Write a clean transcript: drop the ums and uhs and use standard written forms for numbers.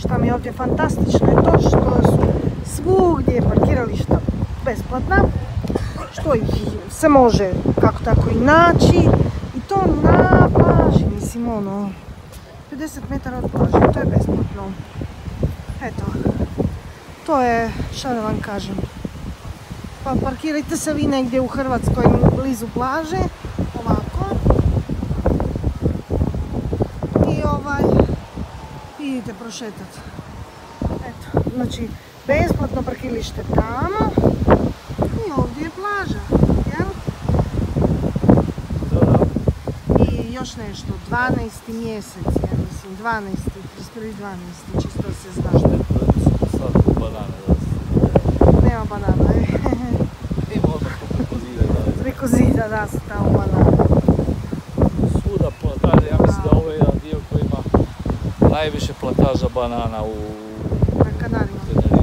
Šta mi je ovdje fantastično je to što su svugdje parkirališta besplatna, što ih se može kako tako i naći, i to na plaži, mislim ono, 50 metara od plaže, to je besplatno. Eto, to je, šta da vam kažem, pa parkirajte se vi negdje u Hrvatskoj blizu plaže, ovako, i idite prošetati. Eto, znači, besplatno parkiralište tamo i ovdje je plaža, jel? I još nešto, 12. mjesec, ja mislim, 12. 31.12. čisto da se zna. Nema banana, preko zida da su tamo banane. Svuda plantaže, ja mislim da ovo je jedan dio koji ima najviše plantaža banana u Na Kanarima.